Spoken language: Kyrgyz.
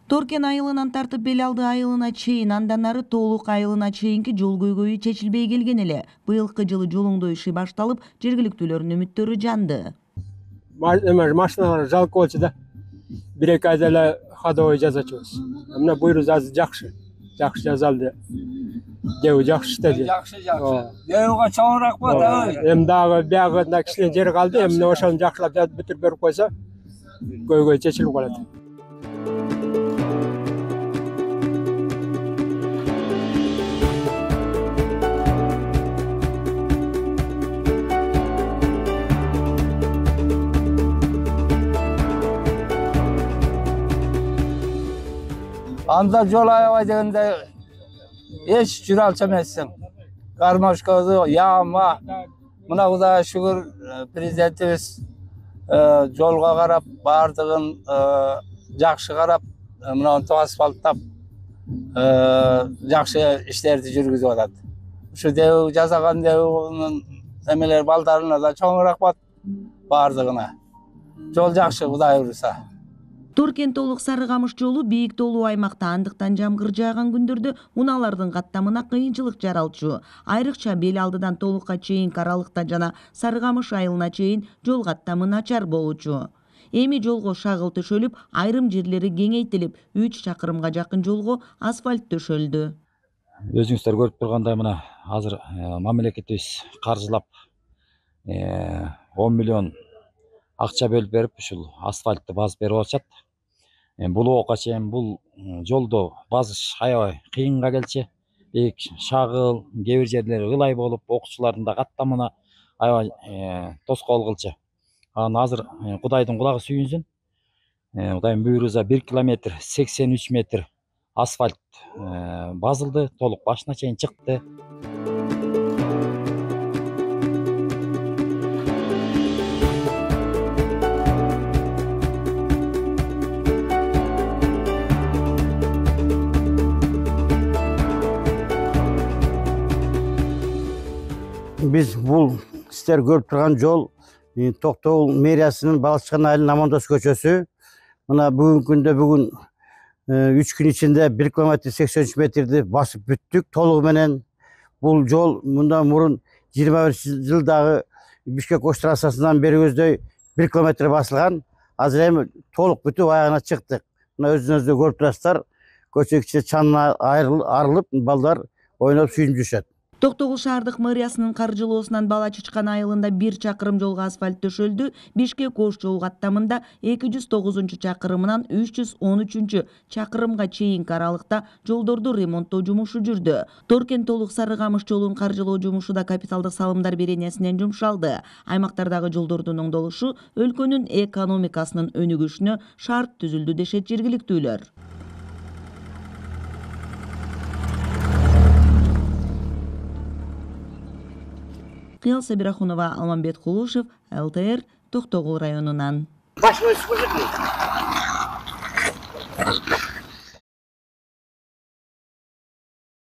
Торкен айылынан тартып Бел алды айылына чейин, андан ары Тоолук айылына чейинки жол көйгөйү чечилбей келген эле. Быйылкы жылы жол оңдоо иши башталып, жергиликтүүлөрдүн үмүттөрү жанды. Машиналар жалко болчу да. 1-2 айда эле ходовой жасачубуз. Мына буйру жакшы жасалды. Дөө жакшы иштеди. Жакшы. Дөөга чоңураак ба да. Эми дагы биягында кичине жер калды. Эми ошону жакшылап бүтүрүп берип койсо, көйгөй чечилип калат. Анда жол аябай дегенде эч жүрө алчу эмессиң. Кармашкасы, яма. Мына Кудайга шүгүр, президентибиз жолго карап, бардыгын жакшы карап, мына асфальттап жакшы иштерди жүргүзүп атат. Ушу дөө жасаган дөөөнүн эмелер балдарына да чоң рахмат бардыгына. Жол жакшы, Кудай буйруса. Торкен Тоолук Сары Камыш жолу бийик тоолуу аймакта, андыктан жамгыр жааган күндөрдө унаалардын каттамына кыйынчылык жаралчу. Айрыкча Бел алдыдан Тоолукка чейинки аралыкта жана Сары Камыш айылына чейин жол каттамы начар болчу. Эми жолго шагыл төшөлүп, айрым жерлери кеңейтилип, 3 чакырымга жакын жолго асфальт төшөлдү. Өзүңүздөр көрүп тургандай мына азыр мамлекетибиз каржылап 10 миллион акча бөлүп берип, ушул асфальтты базып берип атышат. Бул ока чейин бул жолду базыш аябай кыйынга келчү. Шагыл, кээ бир жерлери ылай болуп, окуучулардын да каттамына аябай тоскоол кылчу. Анан азыр Кудайдын кулагы сүйүнсүн. Кудайдын буйруусу 1 километр 83 метр асфальт базылды, толук башына чейин чыкты. Biz бул сиздер көрүп турган жол Токтогул мэриясынын Балчыган айылынын Амандос көчөсү. Мына бүгүнкү күндө 3 күн ичинде 1 километр 83 метрди басып бүттүк толугу менен. Бул жол мындан мурун 21 жылдагы Бишкек-Ош трассасынан бери көздөй 1 километр басылган. Азыр эми толук бүтүп аягына чыктык. Мына өзүңүздөр көрүп турасыздар. Көчө кичине чанына арылып, балдар ойноп сүйүнүп жүрүшөт. Токтогул шаардык мэриясынын каржылоосунан Бала Чычкан айылында 1 чакырым жолго асфальт төшөлдү. Бишкек-Ош жол каттамында 209 чакырымынан 313 чакырымга чейинки аралыкта жолдорду ремонттоо жумушу жүрдү. Торкен Тоолук Сары Камыш жолун каржылоо жумушу да капиталдык салымдар беренесинен жумшалды. Аймактардагы жолдордун оңдолушу өлкөнүн экономикасынын өнүгүшүнө шарт түзүлдү дешет жергиликтүүлөр. Кыял Сабирахунова, Алмамбет Кулушев, ЛТР, Токтогул районунан.